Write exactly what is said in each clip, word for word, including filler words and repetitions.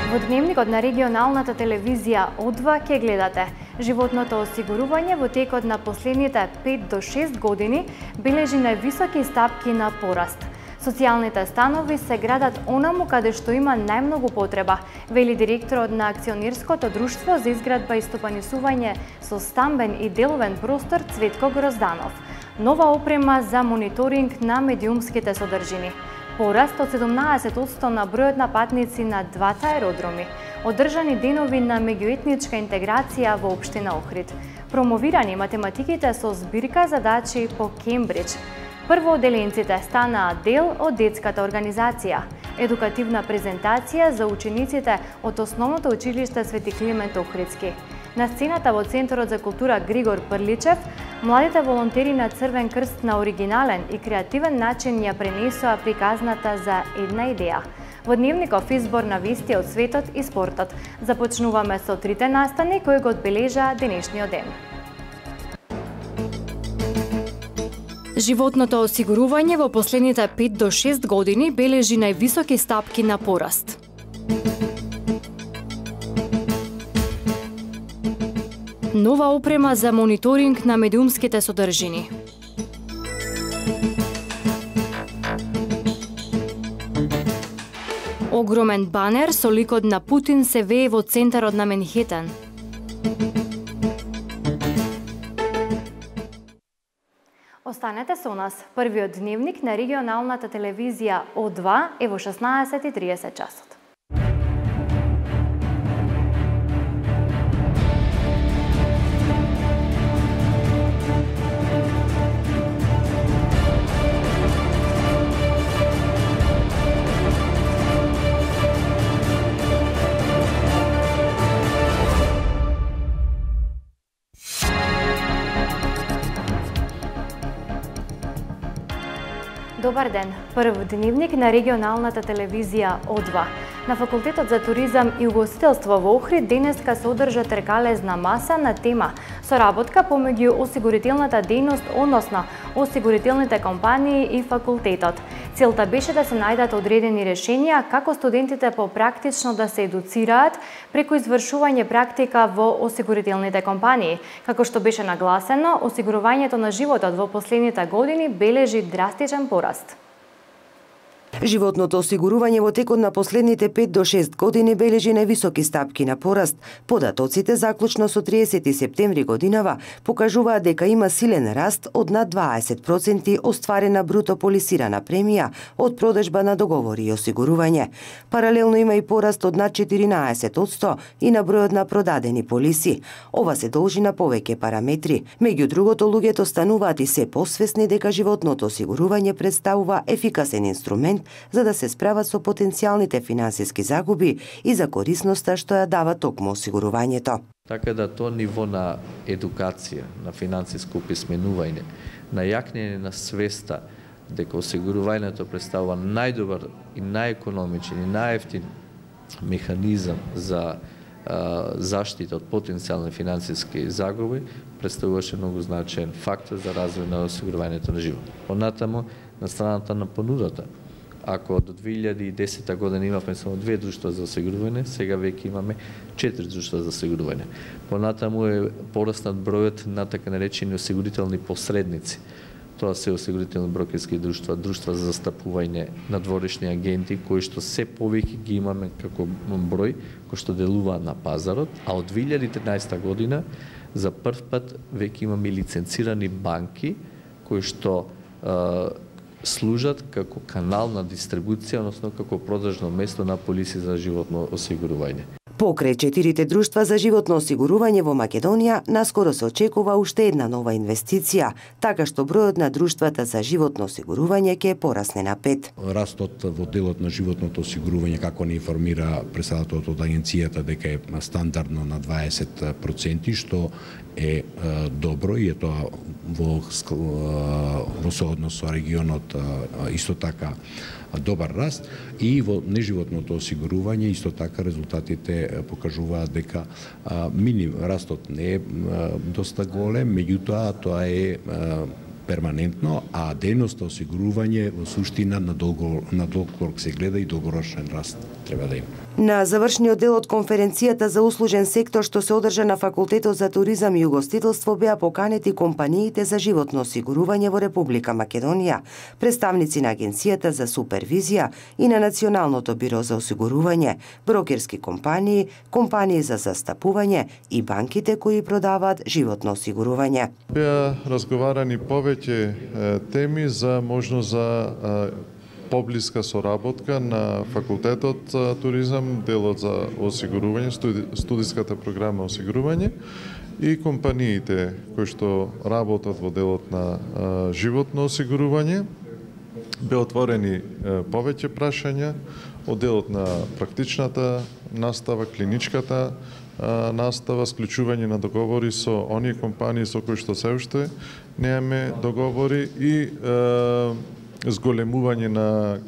Во дневникот на регионалната телевизија О два ќе гледате: животното осигурување во текот на последните пет до шест години бележи највисоки стапки на пораст. Социјалните станови се градат онаму каде што има најмногу потреба, вели директорот на акционерското друштво за изградба и стопанисување со стамбен и деловен простор Цветко Грозданов. Нова опрема за мониторинг на медиумските содржини. Пораст од седумнаесет одсто на бројот на патници на двата аеродроми. Одржани денови на меѓуетничка интеграција во општина Охрид. Промовирани математиките со збирка задачи по Кембридж. Првооделенците станаа дел од детската организација. Едукативна презентација за учениците од Основното училиште Свети Климент Охридски. На сцената во Центарот за култура Григор Прличев, младите волонтери на Црвен крст на оригинален и креативен начин ја пренесоа приказната за една идеја. Во дневников избор на вести од светот и спортот. Започнуваме со трите настани кои го одбележаа денешниот ден. Животното осигурување во последните пет до шест години бележи највисоки стапки на пораст. Нова опрема за мониторинг на медиумските содржини. Огромен банер со ликот на Путин се вее во центарот на Менхетен. Останете со нас. Првиот дневник на регионалната телевизија О два е во шеснаесет и триесет часот. Добар ден. Прв дневник на регионалната телевизија О два. На Факултетот за туризам и угостителство во Охрид денеска се одржа тркалезна маса на тема соработка помеѓу осигурителната дејност, односно осигурителните компании и факултетот. Целта беше да се најдат одредени решенија како студентите попрактично да се едуцираат преку извршување практика во осигурителните компании. Како што беше нагласено, осигурувањето на животот во последните години бележи драстичен пораст. Животното осигурување во текот на последните пет до шест години бележи највисоки стапки на пораст. Податоците заклучно со триесети септември годинава покажуваат дека има силен раст од над дваесет проценти остварена бруто полисирана премија од продажба на договори и осигурување. Паралелно има и пораст од над четиринаесет одсто и на бројот на продадени полиси. Ова се должи на повеќе параметри. Меѓу другото, луѓето стануваат и се посвесни дека животното осигурување представува ефикасен инструмент за да се справат со потенцијалните финансиски загуби и за корисноста што ја дава токму осигурувањето. Така да тоа ниво на едукација, на финансиско писменување, на јакнење на свеста дека осигурувањето представува најдобар и најекономичен и најевтин механизам за а, заштита од потенцијални финансиски загуби, представуваше многу значаен фактор за развој на осигурувањето на живот. Понатаму, на страната на понудата, ако до две илјади и десета година имавме само две друштва за осигурување, сега веќе имаме четири друштва за осигурување. Понатаму е пораснат бројот на така наречени осигурителни посредници. Тоа се осигурителни брокерски друштва, друштва за застапување, надворешни агенти, кои што се повеќе ги имаме како број, кои што делуваат на пазарот, а од две илјади и тринаесета година за прв пат веќе имаме лиценцирани банки, кои што служат како канал на дистрибуција, односно како продажно место на полиси за животно осигурување. Покрај четирите друштва за животно осигурување во Македонија, наскоро се очекува уште една нова инвестиција, така што бројот на друштвата за животно осигурување ќе порасне на пет. Растот во делот на животното осигурување, како не информира председателот од агенцијата, дека е стандардно на дваесет проценти, што е добро и е тоа во, во сооднос со регионот исто така добар раст, и во неживотното осигурување исто така резултатите покажуваат дека миним растот не е доста голем, меѓутоа тоа е перманентно, а дејноста осигурување во суштина на долго на долг рок се гледа и долгорочен раст треба да има. На завршниот дел од конференцијата за услужен сектор што се одржа на Факултетот за туризам и угостителство беа поканети компаниите за животно осигурување во Република Македонија, представници на Агенцијата за супервизија и на Националното биро за осигурување, брокерски компании, компании за застапување и банките кои продаваат животно осигурување. Беа разговарани повеќе теми за можност за поблиска соработка на Факултетот за туризам, делот за осигурување, студи, студиската програма осигурување и компаниите кои што работат во делот на а, животно осигурување. Беа отворени а, повеќе прашања од делот на практичната настава, клиничката а, настава, склучување на договори со оние компании со кои што се уште немаме договори и а, зголемување на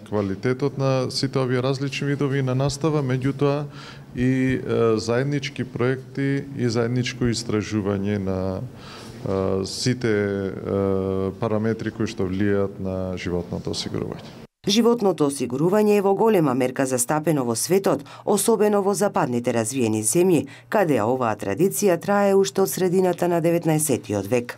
квалитетот на сите овие различни видови на настава, меѓутоа и е, заеднички проекти и заедничко истражување на е, сите е, параметри кои што влијаат на животното осигурување. Животното осигурување е во голема мерка застапено во светот, особено во западните развиени земји, каде оваа традиција трае уште од средината на деветнаесеттиот век.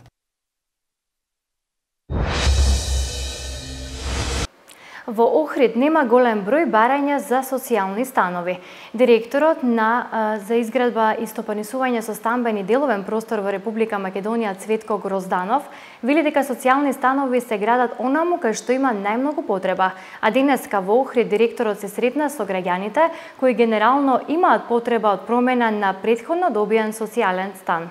Во Охрид нема голем број барања за социјални станови. Директорот на а, за изградба и стопанисување со стамбен и деловен простор во Република Македонија Цветко Грозданов вели дека социјални станови се градат онаму кај што има најмногу потреба, а денеска во Охрид директорот се сретна со граѓаните кои генерално имаат потреба од промена на претходно добиен социјален стан.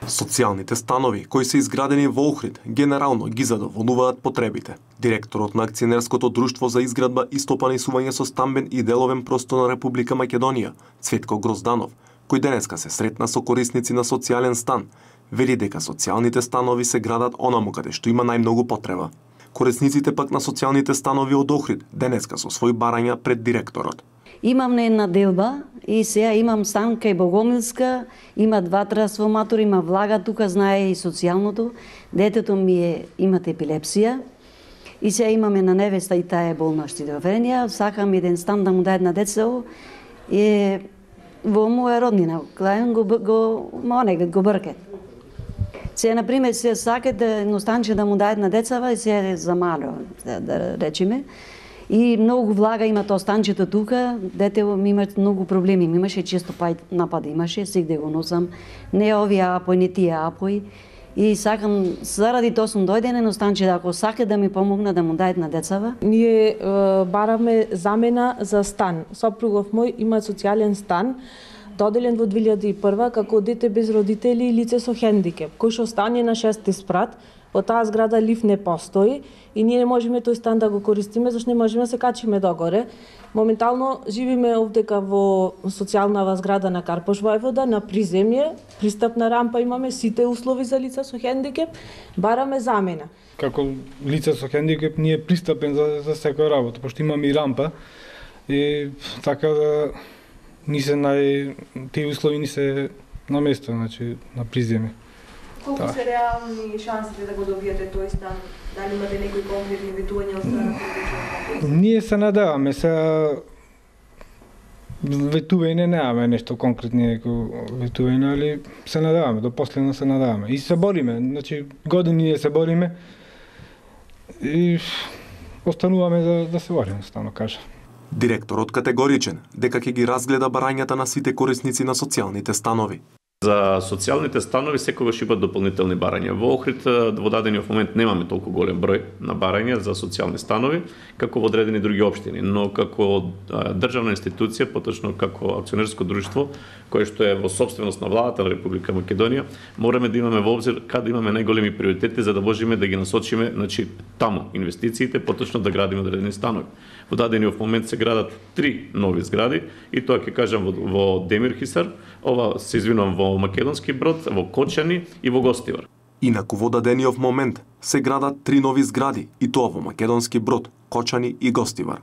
Социјалните станови кои се изградени во Охрид генерално ги задоволуваат потребите. Директорот на Акционерското друштво за изградба и стопанисување со стамбен и деловен простор на Република Македонија, Цветко Грозданов, кој денеска се сретна со корисници на социјален стан, вели дека социјалните станови се градат онаму каде што има најмногу потреба. Корисниците пак на социјалните станови од Охрид денеска со свој барања пред директорот. Имам на една делба и сега имам стан кај Богомилска, има два трансформатори, има влага, тука знае и социјалното. Детето ми е, имат епилепсија и сега имаме на невеста и таа е болна шизофренија. Сакам еден стан да му даде на децето и во моја роднина, клајан го го монек го брке. Сега на пример се сака да едно станче да му даде на децава и сега е за мало, да речеме. И многу влага има тоа станчето тука, дете ми имат многу проблеми, ми имаше често пај напади, имаше, сегде го носам, не овие апои, не тие апои. И сакам, заради тоа сум дојден едно станче, ако сака да ми помогна да му дајат на децава. Ние е, бараме замена за стан. Сопругов мој има социјален стан, доделен во две илјади и прва како дете без родители и лице со хендикеп, кој што стане на шести спрат. Во таа зграда лифт не постои и ние не можеме тој стан да го користиме, зашто не можеме да се качиме догоре. Моментално живиме овдека во социјалнава зграда на Карпош Војвода, на приземје, пристапна рампа имаме, сите услови за лица со хендикеп, бараме замена. Како лице со хендикеп ние пристапен за, за секоја работа, пошто имаме и рампа и така да ни се нај тие услови ни се на место, значи на приземје. Колку се реални шансите да го добиете тој стан? Дали имате некои конкретни ветувања од страна на Ние се надеваме, се ветување немаме нешто конкретни ветување, али се надеваме, до последно се надеваме. И се бориме, значи години ние се бориме и остануваме да, да се бориме, стану кажа. Директорот категоричен дека ќе ги разгледа барањата на сите корисници на социјалните станови. За социјалните станови секогаш има дополнителни барања. Во Охрид во дадениот момент немаме толку голем број на барања за социјални станови како во одредени други општини, но како државна институција, поточно како акционерско друштво, кое што е во сопственост на владата на Република Македонија, мораме да имаме во обзир каде имаме најголеми приоритети за да можеме да ги насочиме, значи таму инвестициите, поточно да градиме одредени станови. Во дадениот момент се градат три нови згради и тоа ќе кажам во, во Демирхисар, ова се извинувам во Македонски Брод, во Кочани и во Гостивар. Инаку во дадениот момент се градат три нови згради и тоа во Македонски Брод, Кочани и Гостивар.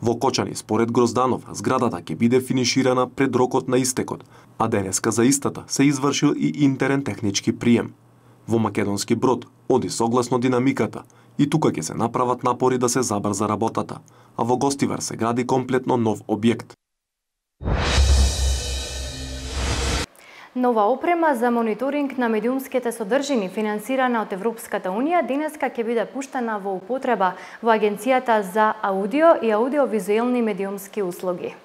Во Кочани, според Грозданов, зградата ќе биде финиширана пред рокот на истекот, а денеска за истата се извршил и интерен технички прием. Во Македонски Брод оди согласно динамиката и тука ќе се направат напори да се забрза работата, а во Гостивар се гради комплетно нов објект. Нова опрема за мониторинг на медиумските содржини, финансирана од Европската Унија, денеска ќе биде пуштена во употреба во Агенцијата за аудио и аудиовизуелни медиумски услуги.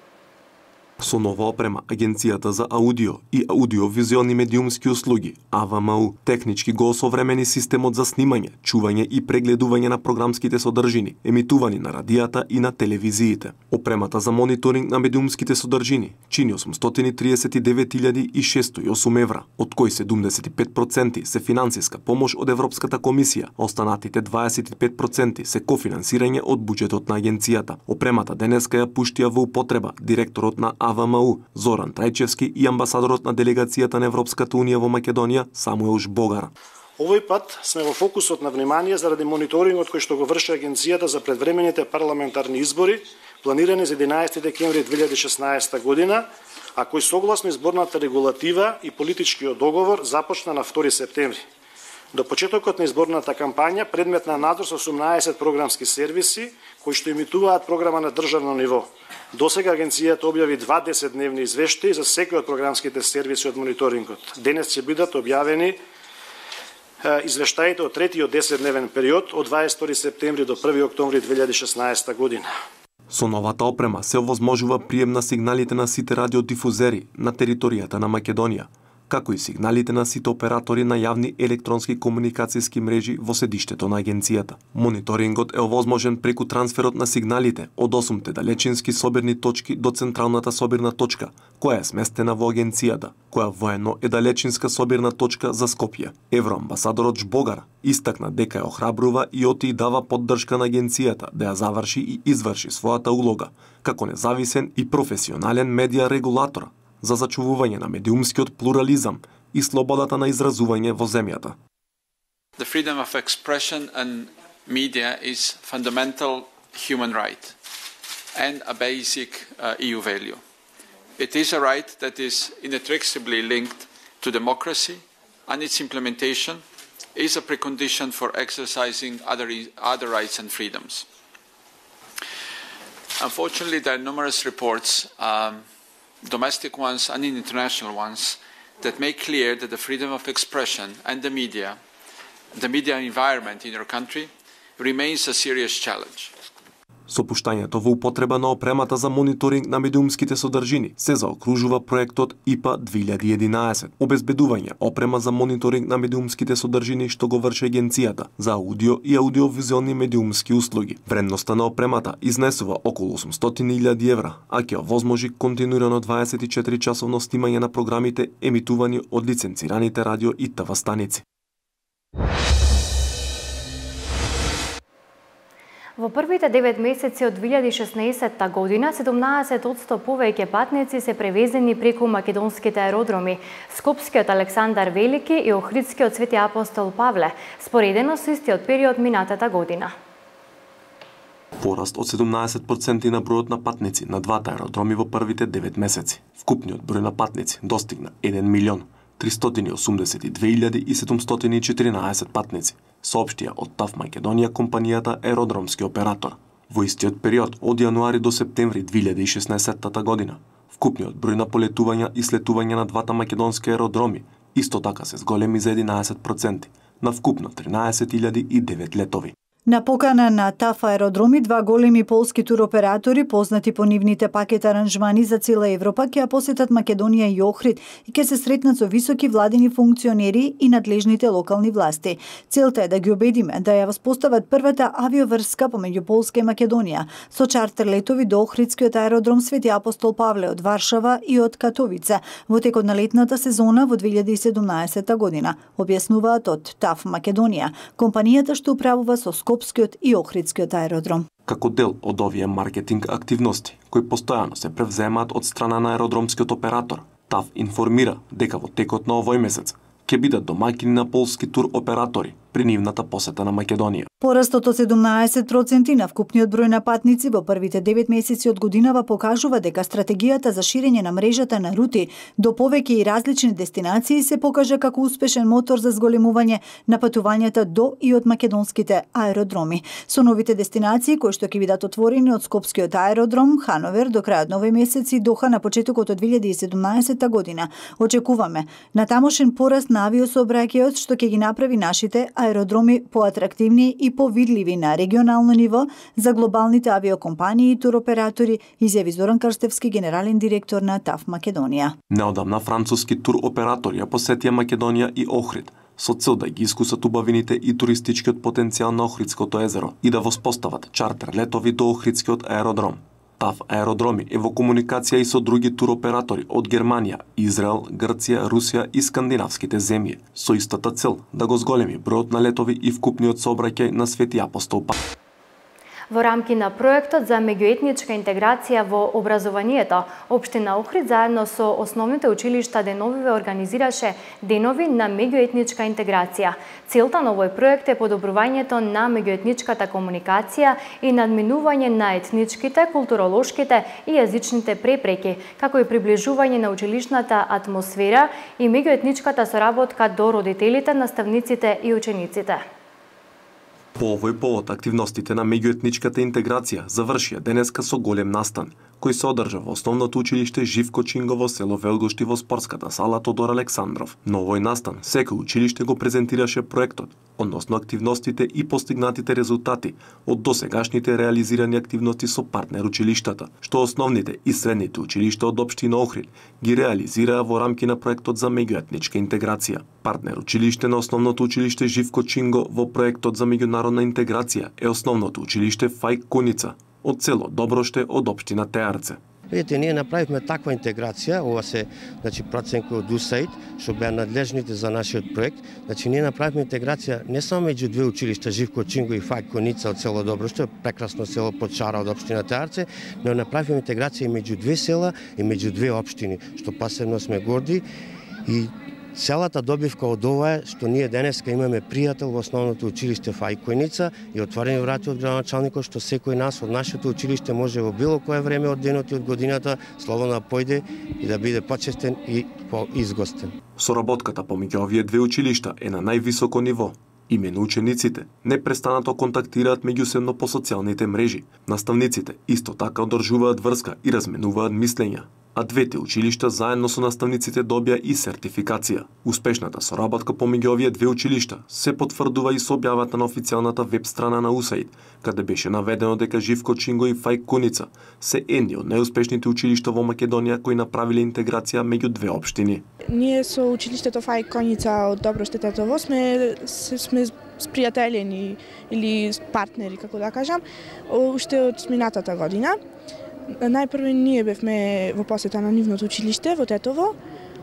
Со нова опрема, Агенцијата за аудио и аудиовизуелни медиумски услуги, А В М У, технички го осовремени системот за снимање, чување и прегледување на програмските содржини, емитувани на радијата и на телевизиите. Опремата за мониторинг на медиумските содржини чини осумстотини и триесет и девет илјади и шестстотини и осум евра, од кои седумдесет и пет проценти се финансиска помош од Европската комисија, а останатите дваесет и пет проценти се кофинансирање од буџетот на агенцијата. Опремата денеска ја пуштија во употреба директорот на А В М У Зоран Трајчевски и амбасадорот на делегацијата на Европската Унија во Македонија Самуел Жбогар. Овој пат сме во фокусот на внимание заради мониторингот кој што го врши Агенцијата за предвремените парламентарни избори, планирани за единаесети декември две илјади и шеснаесета година, а кој согласно изборната регулатива и политичкиот договор започна на втори септември. До почетокот на изборната кампања предмет на надзор се осумнаесет програмски сервиси кои што емитуваат програма на државно ниво. Досега агенцијата објави два десетдневни извештаи за секој од програмските сервиси од мониторингот. Денес ќе бидат објавени извештаите од третиот десетдневен период од дваесет и втори септември до први октомври две илјади и шеснаесета година. Со новата опрема се овозможува прием на сигналите на сите радиодифузери на територијата на Македонија, како и сигналите на сите оператори на јавни електронски комуникацијски мрежи во седиштето на агенцијата. Мониторингот е овозможен преку трансферот на сигналите од осумте далечински собирни точки до централната собирна точка, која е сместена во агенцијата, која воено е далечинска собирна точка за Скопје. Евроамбасадорот Жбогар истакна дека ја охрабрува и оти и дава поддршка на агенцијата да ја заврши и изврши својата улога како независен и професионален медија регулатор за зачувување на медиумскиот плурализам и слободата на изразување во земјата. The freedom of expression and media is fundamental human right and a basic uh, E U value. It is a right that is inextricably linked to democracy, and its implementation is a precondition for exercising other, other rights and freedoms. Unfortunately, there are numerous reports um, domestic ones and international ones, that make clear that the freedom of expression and the media, the media environment in our country, remains a serious challenge. Со пуштањето во употреба на опремата за мониторинг на медиумските содржини се заокружува проектот И П А две илјади и единаесет, обезбедување опрема за мониторинг на медиумските содржини што го врши агенцијата за аудио и аудиовизуелни медиумски услуги. Вредноста на опремата изнесува околу осумстотини илјади евра, а ќе овозможи континуирано дваесет и четири часовно снимање на програмите емитувани од лиценцираните радио и Т В станици. Во првите девет месеци од две илјади и шеснаесетта година, седумнаесет одсто повеќе патници се превезени преку македонските аеродроми, Скопскиот Александар Велики и Охридскиот Свети Апостол Павле, споредено со истиот период минатата година. Пораст од седумнаесет проценти на бројот на патници на двата аеродроми во првите девет месеци. Вкупниот број на патници достигна еден милион тристотини и осумдесет и две илјади и седумстотини и четиринаесет патници, соопштија од ТАВ Македонија компанијата Аеродромски оператор. Во истиот период од јануари до септември две илјади и шеснаесетта година, вкупниот број на полетувања и слетувања на двата македонски аеродроми исто така се зголеми за единаесет проценти, на вкупно тринаесет илјади и девет летови. На покана на ТАФ аеродроми, два големи полски туроператори, познати по нивните пакет аранжмани за цела Европа, ќе ја посетат Македонија и Охрид и ќе се сретнат со високи владини функционери и надлежните локални власти. Целта е да ги убедиме да ја воспостават првата авиоврска помеѓу Полска и Македонија, со чартер летови до Охридскиот аеродром Свети Апостол Павле од Варшава и од Катовица во текот на летната сезона во две илјади и седумнаесетта година, објаснуваат од ТАФ Македонија, компанијата што управува со Скопскиот и Охридскиот аеродром. Како дел од овие маркетинг активности, кои постојано се превземаат од страна на аеродромскиот оператор, ТАФ информира дека во текот на овој месец ќе бидат домаќини на полски тур оператори при нивната посета на Македонија. Порастот од седумнаесет проценти на вкупниот број на патници во првите девет месеци од годинава покажува дека стратегијата за ширење на мрежата на рути до повеќе и различни дестинации се покажа како успешен мотор за зголемување на патувањата до и од македонските аеродроми. Со новите дестинации кои што ќе бидат отворени од Скопскиот аеродром, Хановер до крајот на овој месец и Доха на почетокот од две илјади и седумнаесета година, очекуваме на тамошен пораст на авиосообраќајот што ќе ги направи нашите аеродроми поатрактивни и повидливи на регионално ниво за глобалните авиокомпании и туроператори, изјави Зоран Крстевски, генерален директор на ТАФ Македонија. Неодамна француски туроператори ја посетија Македонија и Охрид со цел да ги искусат убавините и туристичкиот потенцијал на Охридското езеро и да воспостават чартер летови до Охридскиот аеродром. ТАФ аеродроми е во комуникација и со други туроператори од Германија, Израел, Грција, Русија и скандинавските земји, со истата цел да го зголеми бројот на летови и вкупниот сообраќај на Свети Апостол Павле. Во рамки на проектот за меѓуетничка интеграција во образованието, Општина Охрид заедно со основните училишта деновиве организираше денови на меѓуетничка интеграција. Целта на овој проект е подобрувањето на меѓуетничката комуникација и надминување на етничките, културолошките и јазичните препреки, како и приближување на училишната атмосфера и меѓуетничката соработка до родителите, наставниците и учениците. По овој повод, активностите на меѓуетничката интеграција завршија денеска со голем настан, кој се одржа во основното училиште Живко Чинго во село Велгошти во спортската сала Тодор Александров. На овој настан, секој училиште го презентираше проектот, односно активностите и постигнатите резултати од досегашните реализирани активности со партнер училиштата, што основните и средните училишта од Општина Охрид ги реализираа во рамки на проектот за меѓуетничка интеграција. Партнер училиште на основното училиште Живко Чинго во проектот за меѓународна интеграција е основното училиште Фајк Куница од село Доброште од Општина Теарце. Видите, ние направивме таква интеграција, ова се, значи, проценка од УСАИД, што беа надлежните за нашиот проект. Значи, ние направивме интеграција не само меѓу две училишта, Живко Чинго и Фајк Куница од село Доброште, прекрасно село под Шара од Општина Теарце, но направивме интеграција и меѓу две села и меѓу две општини, што посебно сме горди. И целата добивка од ова е што ние денеска имаме пријател во основното училиште Фајк Куница и отворени врати од градоначалникот што секој нас од нашето училиште може во било кое време од денот и од годината слободно да појде и да биде почестен и поизгостен. Соработката помеѓу овие две училишта е на највисоко ниво. Имено учениците непрестанато контактираат меѓусебно по социјалните мрежи. Наставниците исто така одржуваат врска и разменуваат мислења, а двете училишта заедно со наставниците добија и сертификација. Успешната соработка помеѓу овие две училишта се потврдува и со објавата на официјалната веб страна на УСАИД, каде беше наведено дека Живко Чинго и Фајк Куница се едни од најуспешните училишта во Македонија кои направиле интеграција меѓу две општини. Ние со училиштето Фајк Куница од Доброште Тетово сме сме спријателени или партнери, како да кажам, уште од минатата година. Најпрво ние бевме во посета на нивното училиште во Тетово,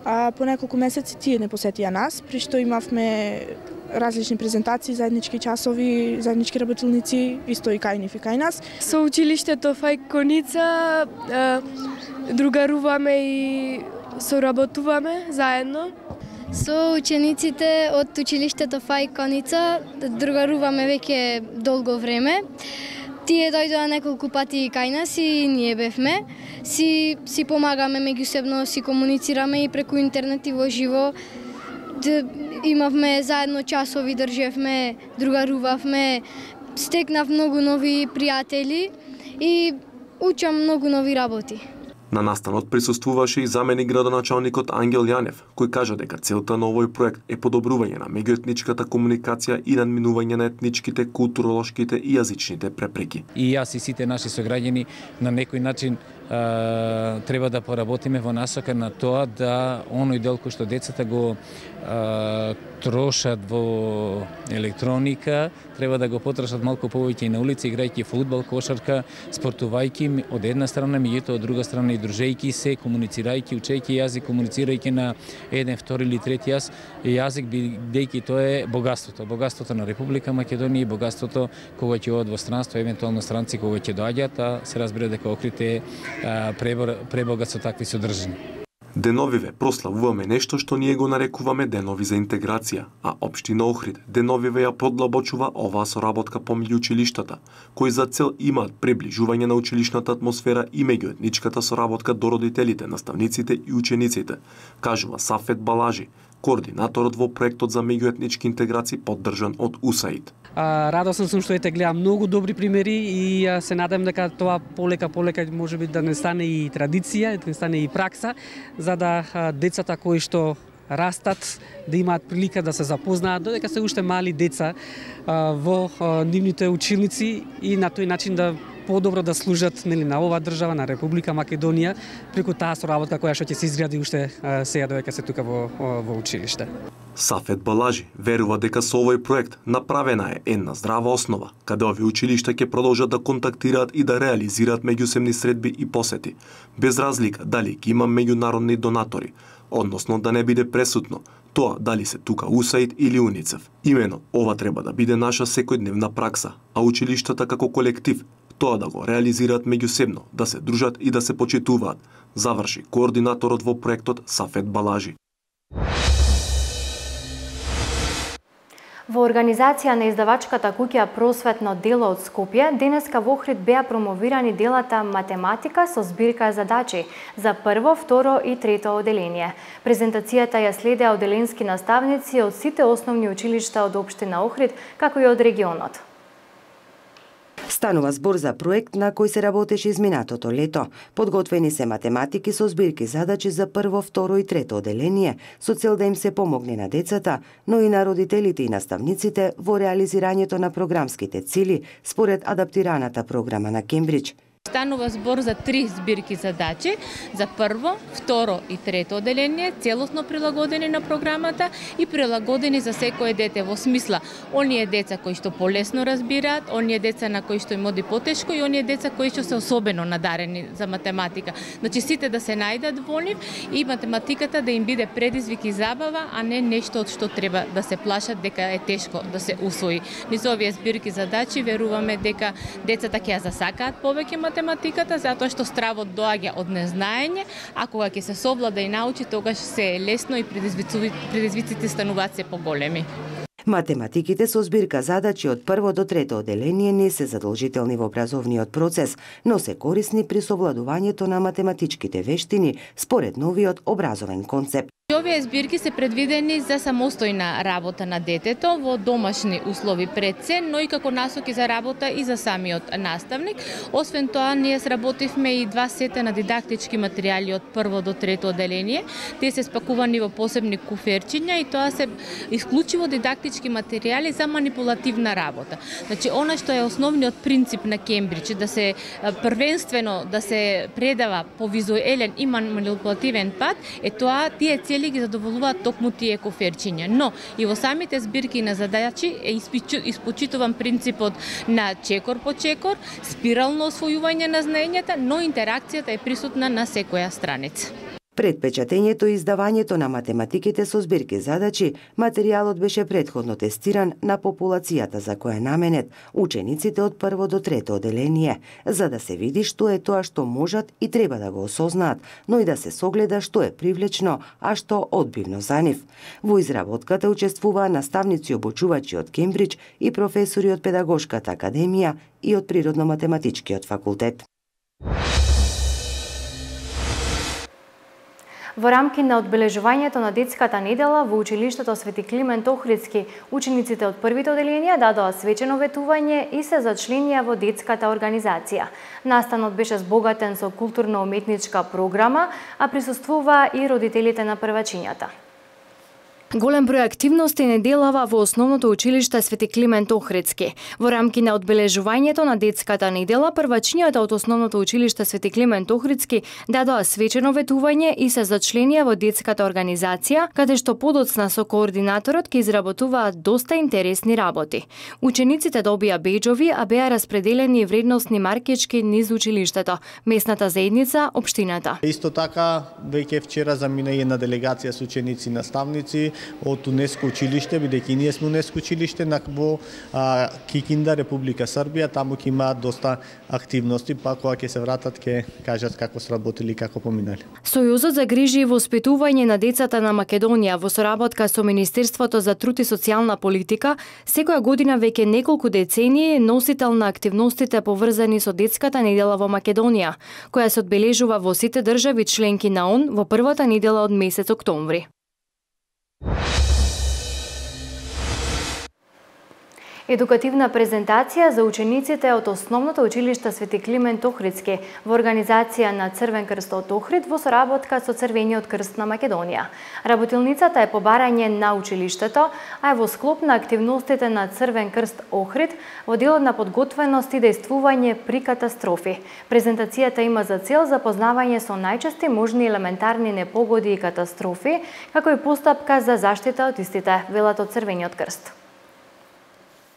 а по неколку месеци тие не посетија нас, при што имавме различни презентации, заеднички часови, заеднички работилници, исто и кај нив и кај нас. Со училиштето Фајк Куница другаруваме и соработуваме заедно. Со учениците од училиштето Фајк Куница другаруваме веќе долго време. Тие дојдоа неколку пати кај нас и ние бевме. Си, си помагаме меѓусебно, си комуницираме и преку интернет и во живо. Имавме заедно часови, држевме, другарувавме, стекнав многу нови пријатели и учам многу нови работи. На настанот присуствуваше и заменик градоначалникот Ангел Јанев, кој кажа дека целта на овој проект е подобрување на меѓуетничката комуникација и надминување на етничките, културолошките и јазичните препреки. И јас и сите наши сограѓани на некој начин а, треба да поработиме во насока на тоа да оној дел кој што децата го а, трошат во електроника, треба да го потрошат малку повеќе и на улица, играјќи фудбал, кошарка, спортувајќи од една страна, меѓутоа од друга страна и дружејќи се, комуницирајќи, учејќи јазик, комуницирајќи на еден, втори или трети јаз, јазик, бидејќи тоа е богатството, богатството на Република Македонија и богатството кога ќе одат во странство, евентуално странци кога ќе доаѓаат, а се разбира дека Охрид е пребогат со такви содржини. Деновиве прославуваме нешто што ние го нарекуваме денови за интеграција, а општина Охрид деновиве ја продлабочува оваа соработка помеѓу училиштата, кои за цел имаат приближување на училишната атмосфера и меѓуетничката соработка до родителите, наставниците и учениците, кажува Сафет Балажи, координаторот во проектот за меѓуетнички интеграции поддржан од УСАИД. Радосен сум што ете гледам многу добри примери и се надам дека тоа полека полека можеби да не стане и традиција, да не стане и пракса, за да децата кои што растат да имаат прилика да се запознаат додека се уште мали деца во нивните училници и на тој начин да подобро да служат нели на оваа држава, на Република Македонија, преку таа соработка која што ќе се изгради уште сега додека се тука во, во училиште. Сафет Балажи верува дека со овој проект направена е една здрава основа, каде овие училишта ќе продолжат да контактираат и да реализираат меѓусебни средби и посети, без разлика дали ќе има меѓународни донатори, односно да не биде пресудно тоа дали се тука УСАИД или УНИЦЕФ. Имено, ова треба да биде наша секојдневна пракса, а училиштата како колектив тоа да го реализираат меѓусебно, да се дружат и да се почитуваат, заврши координаторот во проектот Сафет Балажи. Во организација на издавачката куќа Просветно дело од Скопје, денеска во Охрид беа промовирани делата Математика со збирка задачи за прво, второ и трето оделение. Презентацијата ја следеа оделенски наставници од сите основни училишта од општина Охрид, како и од регионот. Станува збор за проект на кој се работеше изминатото лето. Подготвени се математики со збирки задачи за прво, второ и трето оделение, со цел да им се помогне на децата, но и на родителите и наставниците во реализирањето на програмските цели според адаптираната програма на Кембридж. Станува збор за три збирки задачи, за прво, второ и трето оделение, целосно прилагодени на програмата и прилагодени за секое дете во смисла оние деца кои што полесно разбираат, оние деца на кои што им оди потешко и оние деца кои што се особено надарени за математика. Значи сите да се најдат во нив и математиката да им биде предизвик и забава, а не нешто од што треба да се плашат дека е тешко да се усвои. Низ овие збирки задачи веруваме дека децата ќе ја засакаат повеќе математиката, затоа што стравот доаѓа од незнаење, а кога ќе се совлада и научи, тогаш се е лесно и предизвиците стануваат се поголеми. Математиките со збирка задачи од прво до трето оделение не се задолжителни во образовниот процес, но се корисни при совладувањето на математичките вештини според новиот образовен концепт. Овие збирки се предвидени за самостојна работа на детето во домашни услови пред се, но и како насоки за работа и за самиот наставник. Освен тоа, ние сработивме и два сета на дидактички материјали од прво до трето оделение. Тие се спакувани во посебни куферчиња и тоа се исклучиво дидактички материјали за манипулативна работа. Значи, она што е основниот принцип на Кембридж, да се првенствено да се предава по визуелен и манипулативен пат, е тоа тие цели ги задоволуваат токму тие коферчиња. Но и во самите збирки на задачи е испочитуван принципот на чекор по чекор, спирално освојување на знаењата, но интеракцијата е присутна на секоја страница. Пред печатењето и издавањето на математиките со збирки задачи, материјалот беше претходно тестиран на популацијата за која наменет учениците од прво до трето оделение, за да се види што е тоа што можат и треба да го осознаат, но и да се согледа што е привлечно, а што одбивно за нив. Во изработката учествуваа наставници обучувачи од Кембридж и професори од Педагошката академија и од Природно-математичкиот факултет. Во рамки на одбележувањето на детската недела во училиштето Свети Климент Охридски, учениците од првите оделенија дадоа свечено ветување и се зачленија во детската организација. Настанот беше збогатен со културно-уметничка програма, а присуствуваа и родителите на првачињата. Голем број активности неделава во основното училиште Свети Климент Охридски. Во рамки на одбележувањето на детската недела, првачињата од основното училиште Свети Климент Охридски дадоа свечено ветување и се зачленија во детската организација, каде што подоцна со координаторот ќе изработуваат доста интересни работи. Учениците добија беџови, а беа распределени вредносни маркички низ училиштето, местната заедница, општината. Исто така, веќе вчера замина и една делегација со ученици и наставници од УНЕСКО училиште, бидејќи ние сме УНЕСКО училиште во Кикинда, Република Србија, таму ќе имаат доста активности, па кога ќе се вратат ќе кажат како сработили и како поминали. Сојузот за грижи и воспитување на децата на Македонија во соработка со Министерството за труд и социјална политика секоја година веќе неколку децении е носител на активностите поврзани со детската недела во Македонија, која се одбележува во сите држави членки на ООН во првата недела од месец октомври. Едукативна презентација за учениците од Основното училиште Свети Климент Охридски во организација на Црвен крст од Охрид во соработка со Црвениот крст на Македонија. Работилницата е побарање на училиштето, а е во склоп на активностите на Црвен крст Охрид во делот на подготвеност и дејствување при катастрофи. Презентацијата има за цел запознавање со најчести можни елементарни непогоди и катастрофи, како и постапка за заштита од истите, велат од Црвениот крст.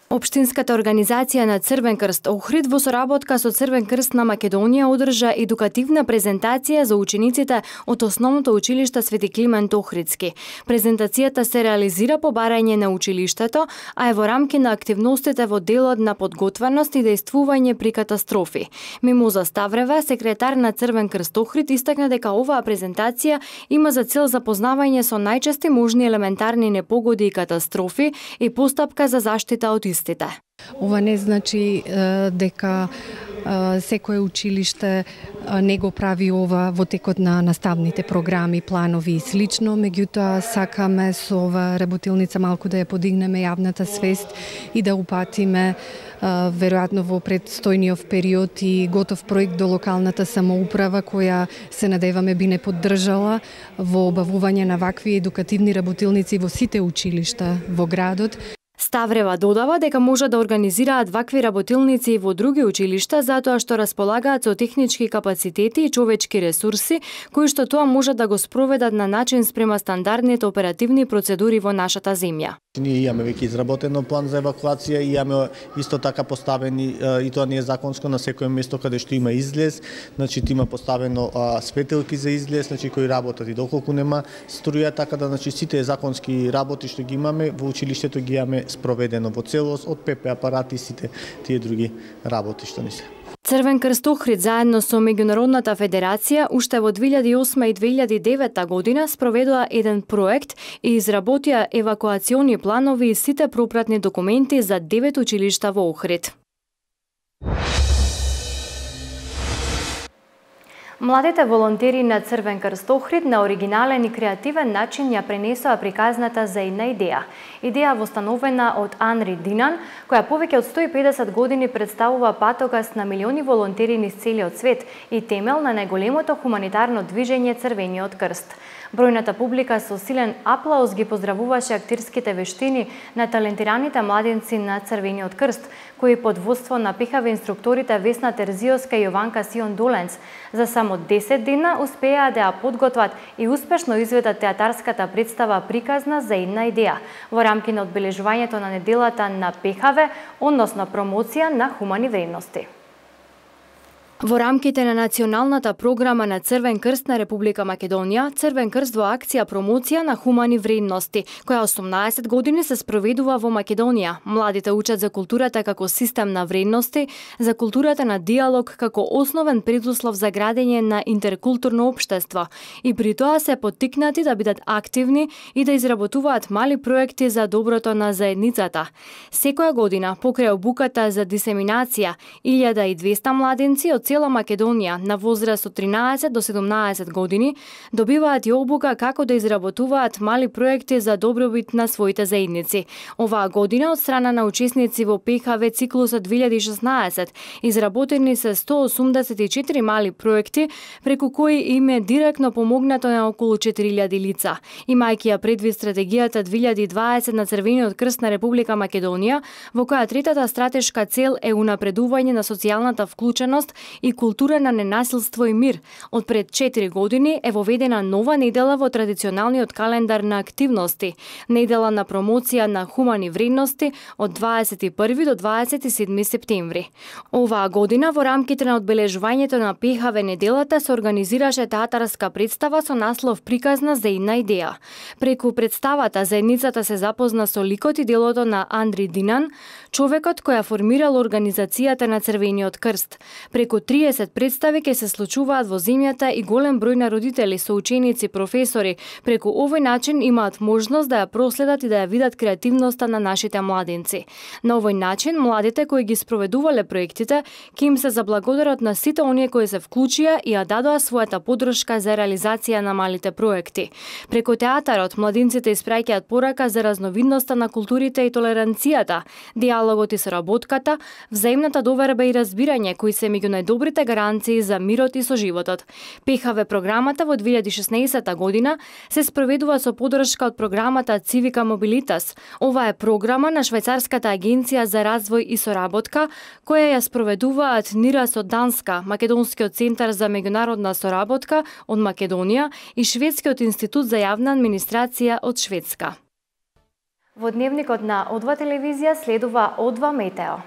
Општинската организација на Црвен крст Охрид во соработка со Црвен крст на Македонија одржа едукативна презентација за учениците од Основното училиште Свети Климент Охридски. Презентацијата се реализира по барање на училиштето, а е во рамки на активностите во делот на подготвеност и дејствување при катастрофи. Мимоза Ставрева, секретар на Црвен крст Охрид, истакна дека оваа презентација има за цел запознавање со најчести можни елементарни непогоди и катастрофи и постапка за заштита од истите. Ова не значи дека секое училиште не го прави ова во текот на наставните програми, планови и слично, меѓутоа сакаме со ова работилница малку да ја подигнеме јавната свест и да упатиме веројатно во предстојниот период и готов проект до локалната самоуправа која се надеваме би не поддржала во обавување на вакви едукативни работилници во сите училишта во градот. Ставрева додава дека може да организираат вакви работилници и во други училишта затоа што располагаат со технички капацитети и човечки ресурси кои што тоа може да го спроведат на начин спрема стандардните оперативни процедури во нашата земја. Ние имаме веќе изработено план за евакуација и имаме исто така поставени, и тоа не е законско, на секое место каде што има излез, значи има поставено а, светилки за излез, значи кои работат и доколку нема струја, така да значи сите законски работи што ги имаме во училиштето ги имаме спроведено во целост од ПП апарати и сите тие други работи што не се. Црвен крст Охрид заедно со Меѓународната федерација уште во две илјади и осма и две илјади и девета година спроведува еден проект и изработија евакуациони планови и сите пропратни документи за девет училишта во Охрид. Младите волонтери на Црвен крст Охрид на оригинален и креативен начин ја пренесоа приказната за една идеја. Идеја востановена од Анри Динан, која повеќе од сто и педесет години представува патокас на милиони волонтери низ целиот свет и темел на најголемото хуманитарно движење Црвениот крст. Бројната публика со силен аплауз ги поздравуваше актирските вештини на талентираните младенци на Црвениот крст, кои под водство на пехави инструкторите Весна Терзиоска и Јованка Сион Доленц за само десет дена успеа да ја подготват и успешно изведат театарската представа приказна за една идеја во рамки на одбележувањето на неделата на пехаве, односно промоција на хумани вредности. Во рамките на националната програма на Црвен крст на Република Македонија, Црвен крст во акција промоција на хумани вредности, која осумнаесет години се спроведува во Македонија. Младите учат за културата како систем на вредности, за културата на диалог како основен предуслов за градење на интеркултурно општество и при тоа се поттикнати да бидат активни и да изработуваат мали проекти за доброто на заедницата. Секоја година, покрај обуката за дисеминација, илјада и двесте младенци од цела Македонија на возраст од тринаесет до седумнаесет години добиваат и обука како да изработуваат мали проекти за добробит на своите заедници. Оваа година од страна на учесници во ПХВ циклусот две илјади и шеснаесет изработени се сто осумдесет и четири мали проекти преку кои им е директно помогнато на околу четири илјади лица. Имајќи ја предвид стратегијата две илјади и дваесет на Црвениот крст на Република Македонија, во која третата стратешка цел е унапредување на социјалната вклученост и култура на ненасилство и мир. Од пред четири години е воведена нова недела во традиционалниот календар на активности, недела на промоција на хумани вредности од дваесет и први до дваесет и седми септември. Оваа година во рамките на одбележувањето на ПХВ неделата се организираше театарска представа со наслов Приказна за една идеја. Преку представата заедницата се запозна со ликот и делото на Андри Динан, човекот кој ја формирал организацијата на Црвениот крст. Преку триесет представи ќе се случуваат во земјата и голем број на родители, соученици, професори, преку овој начин имаат можност да ја проследат и да ја видат креативноста на нашите младинци. На овој начин младите кои ги спроведувале проектите ќе им се заблагодарат на сите оние кои се вклучија и ја дадоа својата подршка за реализација на малите проекти. Преку театарот младинците испраќаат порака за разновидноста на културите и толеранцијата, диалогот и соработката, взаимната доверба и разбирање кои се меѓу најдобрите гаранции за мирот и соживотот. ПХВ програмата во две илјади и шеснаесетта година се спроведува со подршка од програмата Civica Mobilitas. Ова е програма на Швајцарската агенција за развој и соработка, која ја спроведуваат НИРАС од Данска, Македонскиот центар за меѓународна соработка од Македонија и Шведскиот институт за јавна администрација од Шведска. Во дневникот на О два телевизија следува О два Метео.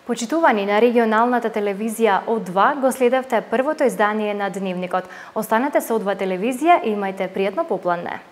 Почитувани на регионалната телевизија О два, го следевте првото издание на Дневникот. Останете со О два телевизија и имајте пријатно попладне.